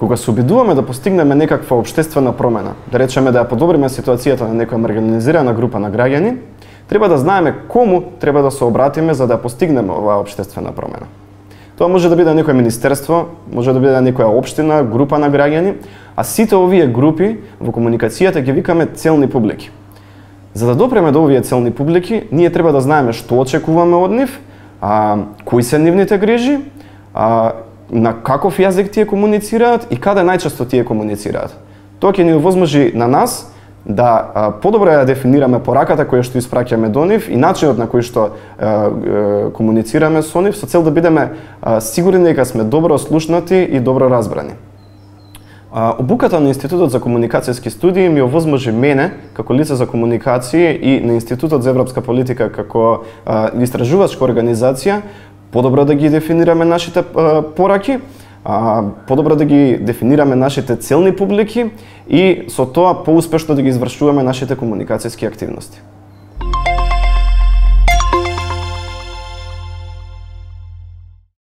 Кога се обидуваме да постигнеме некаква општествена промена, да речеме да ја подобриме ситуацијата на некоја маргинализирана група на граѓани, треба да знаеме кому треба да се обратиме за да постигнеме оваа општествена промена. Тоа може да биде некое министерство, може да биде некоја општина, група на граѓани, а сите овие групи во комуникацијата ги викаме целни публики. За да допреме до овие целни публики, ние треба да знаеме што очекуваме од нив, кои се нивните грижи, на каков јазик тие комуницираат и каде најчесто тие комуницираат. Тоа ќе ни овозможи на нас да подобро ја дефинираме пораката која што испраќаме до нив и начинот на кој што комуницираме со нив со цел да бидеме сигурни дека сме добро слушнати и добро разбрани. Обуката на Институтот за комуникацијски студии ми овозможи мене, како лице за комуникација и на Институтот за европска политика како истражувачка организација, подобро да ги дефинираме нашите пораки, подобро да ги дефинираме нашите целни публики и со тоа поуспешно да ги извршуваме нашите комуникацијски активности.